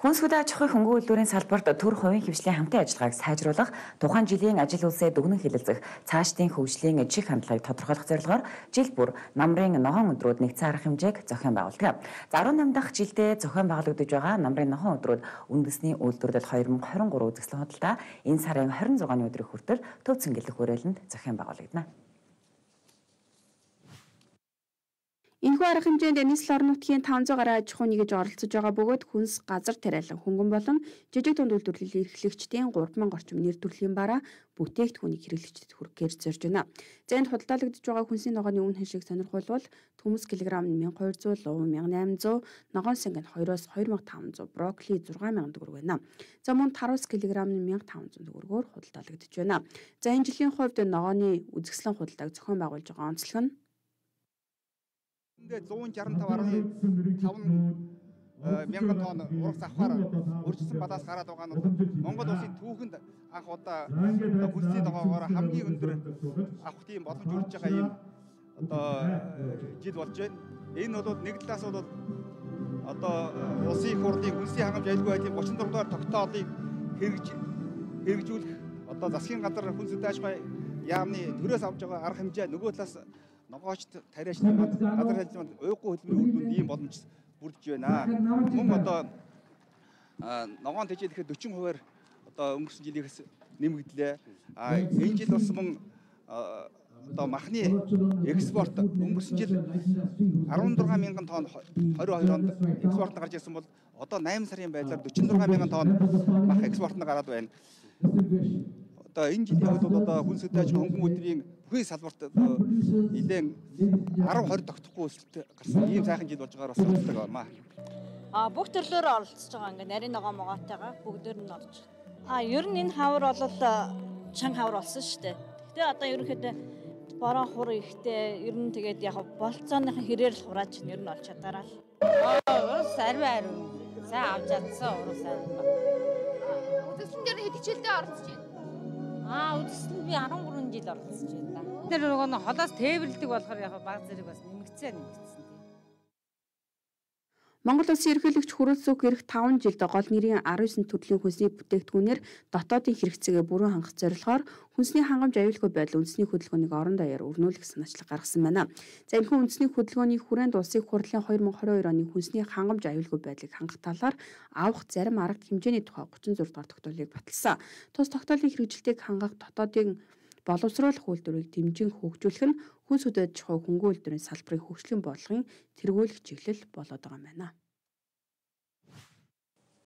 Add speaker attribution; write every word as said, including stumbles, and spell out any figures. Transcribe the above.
Speaker 1: Хүнс хөдөө аж ахуйн хөнгөн үйлдвэрийн салбарт төр хувийн хвшлийн хамтын ажиллагааг сайжруулах, тухайн жилийн ажил үйлсээ дүгнэн хэлэлцэх, цаашдын хөгжлийн чих хандлагыг тодорхойлох зорилгоор жил бүр намрын нохойн өдрүүд нэгдсэн арга хэмжээг зохион байгуулдаг. За арван нам дахь жилдээ зохион байгуулагдаж байгаа намрын нохойн өдрүүд үндэсний үйлдвэрлэл две тысячи двадцать три үзэсгэлэн худалдаа энэ сарын двадцать шестны өдрийн хүртэл төв цэнгэлэх хүрээлэнд зохион байгуулагдана.
Speaker 2: Энэхүү арга хэмжээнд нийслэл орон нутгийн таван зуун гаруй аж ахуй нэгж оролцож байгаа бөгөөд хүнс, газар тариалан, хөнгөн болон жижиг дунд үйлдвэрлэлийн эрхлэгчдийн гурван мянган орчим нэр төрлийн бараа бүтээгдэхүүнийг хэрэглэгчдэд хүрэхээр зорж байна. За энд худалдаалагдж байгаа хүнсийн ногооны үнэ хашийг сонирхолвол төмөс килограмм нь мянга хоёр зуун, луу мянга найман зуун, ногоон сэнг нь двоёроос две тысячи таван зуун, брокколи шесть мянган төгрөг байна. За мөн тарвас килограмм нь мянга таван зуун төгрөгөөр худалдаалагдж байна. За энэ жилийн хувьд ногооны үзэсгэлэн худалдааг зохион байгуулж байгаа онцлог нь
Speaker 3: ингээд one sixty-five five мянган тонн урагш авахаар өржсөн балаас гараад байгаа нь Монгол улсын түүхэнд анх удаа хүнсний ногоогоор хамгийн өндөр авах тийм боломж үрж байгаа юм одоо жил болж байна. Энэ бол нэг талаас бол одоо улсын их хурлын хүнсний хангамж аюулгүй байдлын тридцать four дугаар тогтоолыг хэрэгж хэрэгжүүлэх одоо засгийн газар хүнс хөдөө аж ахуйн яамны төрөөс авж байгаа арга хэмжээ нөгөө талаас ногоочд тариач газар хэлзмэнд уйггүй хөдөлмөрийн үр дүнд ийм боломж бүрдэж байна. Мөн одоо ногоон тэжээл ихэд forty хувиар одоо өнгөрсөн жилээс нэмэгдлээ. А энэ жил бас мөн одоо махны экспорт өнгөрсөн жил сixty-six мянган тонн twenty-two онд экспорт нь гарч ирсэн бол одоо eight сарын байдлаар forty-six мянган тонн мах экспорт нь гараад байна. Одоо энэ жилийн хувьд бол одоо хүнс хөдөө аж ахуйн хөнгөн үйлдвэрийн бүхий салбарт нэлээд ten twenty тогтохгүй өсөлт гарсан ийм сайхан жил болж байгаагаар бас боддог байна.
Speaker 4: А бүх төрлөөр оролцож байгаа ингээ нарийн ногоо могоотойгоо бүгдээр нь орж. А ер нь энэ хавар бол чанга хавар болсон шүү дээ. Гэтэ одоо ерөнхийдөө бороо хур ихтэй ер нь тэгээд яг болцооныхын хэрээр л хурааж ер нь олж чадаараа л.
Speaker 5: Урус арвин арвин сайн авч чадсан урус арвин.
Speaker 6: Үзэсгэлэн дээр хэд хичээлдээ оролцож байна?
Speaker 5: Аа үзэсгэлэн би thirteen жил оролцож байна. Тэр нөгөө холоос тээвэрлдэг болохоор яг баг зэрэг бас нэмэгцээ нэмэгцсэн.
Speaker 2: Монгол Улсын ерөнхийлөгч хүрээлц үг ирэх five жилд гол нэрийн nineteen төрлийн хүнсний бүтээгдэхүүнээр дотоодын хэрэгцээгээ бүрэн хангах зорилгоор хүнсний хангамж аюулгүй байдал үндэсний хөдөлгөөнийг орон даяар өрнүүлэх санаачлаг гаргасан байна. За энэхүү үндэсний хөдөлгөөний хүрээнд улсын хурлын twenty twenty-two оны хүнсний хангамж аюулгүй байдлыг хангах талаар авах зарим арга хэмжээний тухай thirty-six дугаар тогтоолыг баталсан. Тус тогтоолын хэрэгжилтийг хангах дотоодын боловсруулах үйлдвэрийг дэмжин хөгжүүлэх нь хүнс хөдөө аж ахуй хөнгөн үйлдвэрийн салбарын хөгжлийн бодлогын тэргүүлэх чиглэл болоод байгаа юм байна.